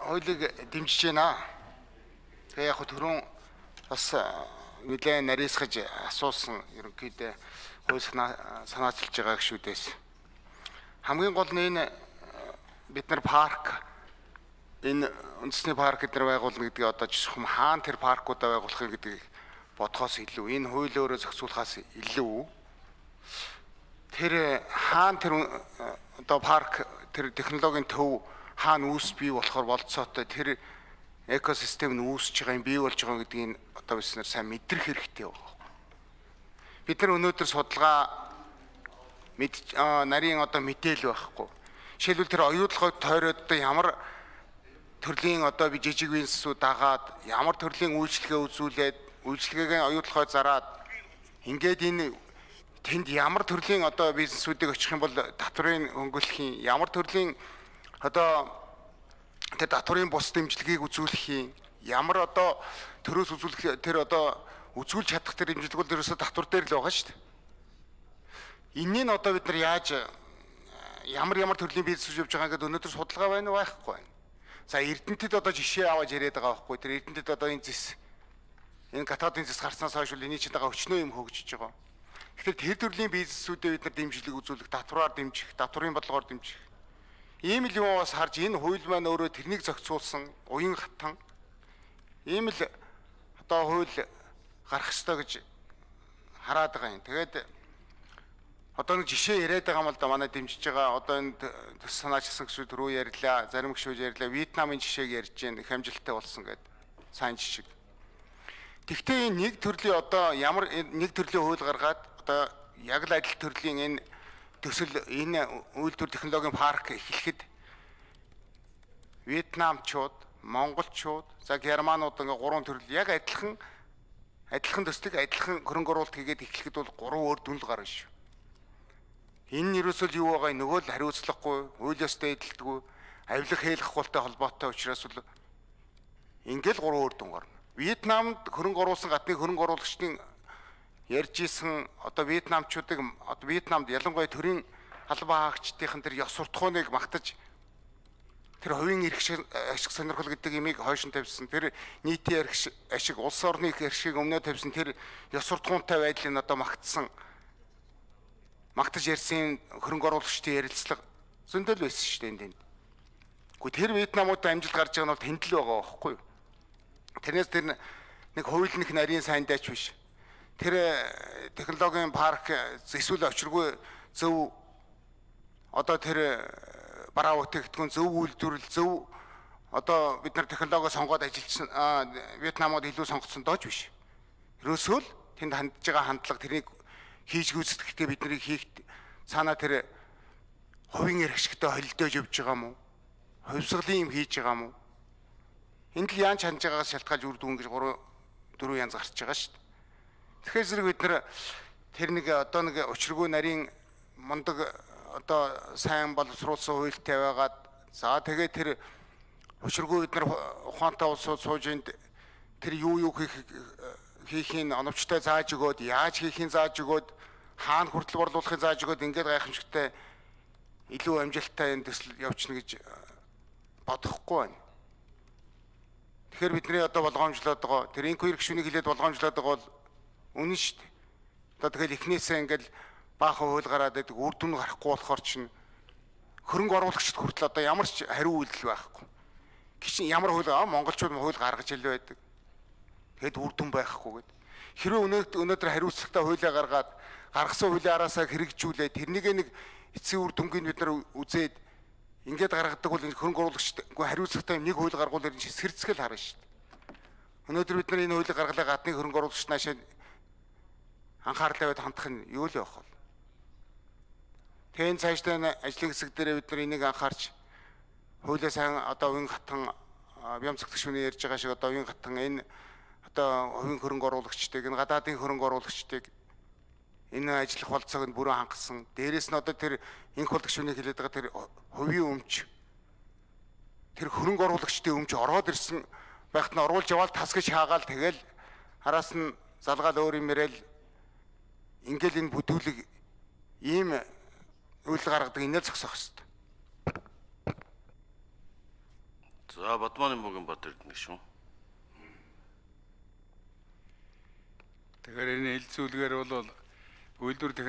хуулийг дэмжиж байна. Тэгээ яг түрүүн бас нэлээд нарийсгаж асуусан ерөнхийдөө хууль санаачилж байгаа гişүүдээс. Хамгийн гол нь энэ бид нар парк энэ үндэсний парк гэдэр байгуулна гэдгийг одоо жишхэм хаана тэр паркуудаа байгуулах гэдгийг бодхоос илүү энэ хууль өөрөө зохицуулахаас илүү тэр хаана тэр одоо парк тэр технологийн төв хаана үүс бий болохоор болцоотой тэр экосистем нь үүсэж байгаа юм бий болж байгаа гэдгийг одоо бид нар сайн мэдрэх хэрэгтэй байна. Бид нар өнөөдөр судалгаа нарийн одоо мэдээлэл байхгүй. Жишээлбэл тэр оюутлогыг тойроод одоо ямар төрлийн одоо би жижиг бизнесүүд дагаад ямар төрлийн үйлчлэгээ үзүүлээд үйлчлэгээ оюутлогоо зараад ингээд энэ тэнд ямар төрлийн одоо бизнесүүдийг очих юм бол татврын хөнгөлөхийн ямар төрлийн одоо тэр татврын бус дэмжлэгийг үзүүлэх юм ямар одоо төрөөс үзүүлэх тэр одоо үзүүлж чадах тэр дэмжлэг бол ерөөсө татвар дээр л байгаа шүү дээ. Энэний нь одоо бид нар яаж ямар төрлийн бизнес хийж байгаа гэдэг өнөөдөр судалгаа байна уу байхгүй байна. За Эрдэнэтэд одоо жишээ аваад яриад байгаа байхгүй. Тэр Эрдэнэтэд одоо энэ зэс энэ гадаадын зэс гарснаас хойш л эний чинь байгаа өчнөө юм хөгжиж байгаа. Тэгэхээр тэр төрлийн бизнесүүдэд бид нар дэмжлэг үзүүлэх, татвараар дэмжих, татврын бодлогоор дэмжих. Ийм л юм бас харж энэ хууль маань өөрөө тэрнийг зохицуулсан уян хатан ийм л одоо хууль гарах ёстой гэж хараад байгаа юм. Тэгээд одоо нэг жишээ яриад байгаа юм л да манай дэмжиж байгаа одоо энэ төс санаачилсан гişүүд рүү ярьлаа, зарим гişүүд ярьлаа, Вьетнамын жишээг ярьж гэн их амжилттай болсон гэдэг сайн жишээ. Тэгвэл энэ нэг төрлийн одоо ямар нэг төрлийн хууль гаргаад одоо яг л адил төрлийн энэ төсөл энэ үйлдвэр технологийн парк эхлэхэд Вьетнамчууд, Монголчууд, за Германууд ингээ гурван төрөл яг адилхан төслийг адилхан хөрөнгө оруулалт хийгээд эхлэхэд бол гурван өөр дүнл гарна шүү. Энэ нь ерөөсөө юу байгаа нөгөө л хариуцлагагүй, хуулиастай эдэлдэггүй, авилга хийх хултай холбоотой учраас бол ингээл гурван өөр дүн гарна. Вьетнамд хөрөнгө оруулсан гадны хөрөнгө оруулагчдын ярьж исэн одоо вьетнамчуудыг одоо Вьетнамд ялангуяа төрийн албан хаагчдын тэр ёс суртахууныг магтаж тэр хувийн эрх ашиг сонирхол гэдэг имийг хойш нь тавьсан тэр нийтийн эрх ашиг улс орны эрх ашиг өмнөө тавьсан тэр ёс суртахуунтай байдлыг одоо магтаж ярьсан хөрөнгө оруулагчдын ярилцлага зөндөл байсан шүү дээ энд. Гэхдээ тэр Вьетнамууд амжилт гарч байгаа нь бол тэнд л байгаа байхгүй юу? Тэрнээс тэр нэг хуулийнх нарийн сайн дайч биш. Тэр технологийн парк эсвэл очиргүй зөв одоо тэр бараа бүтээгдэхүүн зөв үйлдвэрлэл зөв одоо бид нар технологи сонгоод ажилласан Вьетнамууд илүү сонгоцсон дооч биш. Ерөөсөө л тэнд хандж байгаа хандлага тэрийг хийж гүйцэтгэхдээ бид нарыг хийх цаана тэр хувийн эрх ашигтай холилдож явж байгаа юм уу? Хувьсгалын юм хийж байгаа юм уу? Энд л яан чанж байгаагаас шалтгаалж үр дүн гэж 3-4 янз гарч байгаа шүү дээ. Тэгэхээр зэрэг бид нар тэр нэг одоо нэг учиргүй нарийн мундаг одоо сайн боловсруулсан хуультай байгаад за тэгээд тэр учиргүй бид нар ухаантай улсууд сууж энд тэр юу хийхин оновчтой зааж өгөөд яаж хийхин зааж өгөөд хаана хүртэл борлуулахыг зааж өгөөд ингээд гайхамшигтай илүү амжилттай энэ төсөл явуулна гэж бодохгүй байна. Тэгэхээр бидний одоо болгоомжлоод байгаа тэр инквир гишүүнийг хэлээд болгоомжлоод байгаа бол үнэн шүү дээ. Одоо тэгэл эхнээсээ ингээл баахан хууль гараад байдаг үр дүн гарахгүй болохоор чинь хөрөнгө оруулагчид хүртэл одоо ямар ч хариу үйлдэл байхгүй. Гичин ямар хууль монголчууд хууль гаргаж ил байдаг. Тэгэд үр дүн байхгүй гэд. Хэрвээ өнөөдөр хариуцлагатай хуулиа гаргаад гаргасан хуулийн араасаа хэрэгжүүлээд тэрнийг нэг эцсийн үр дүнгийг бид нар үзээд ингээд гаргадаг бол хөрөнгө оруулагчид хариуцлагатай нэг хууль гаргуулаар энэ сэрцгэл харна шүү дээ. Өнөөдөр бид нар энэ хуулийг гаргалаа гадны хөрөнгө оруулагч наашаа анхаарал тавиад хандах нь юу л явах вэ? Тэгээд цаашдаа ажлын хэсэг дээр бид нар энийг анхаарч хуулиа сайн одоо уян хатан бямцах гишүүний ярьж байгаа шиг одоо уян хатан энэ одоо хувийн хөрөнгө оруулагчдыг энэ гадаадын хөрөнгө оруулагчдыг энэ ажиллах болцоог нь бүрэн хангасан. Дээрээс нь одоо тэр инх хол гишүүний хэлээд байгаа тэр хувийн өмч тэр хөрөнгө оруулагчдын өмч ороод ирсэн байхад нь оруулж яваал тасгаж хаагаал тэгэл араас нь залгаал өөр юм яриад ингээл энэ бүдүүлэг ийм үйл гаргадаг инээ зогсоох хэрэгтэй. За Бадманы мөгийн бат эрдэнэ шүү. Тэгэхээр энэ хилцүүлгээр бол үйлдвэр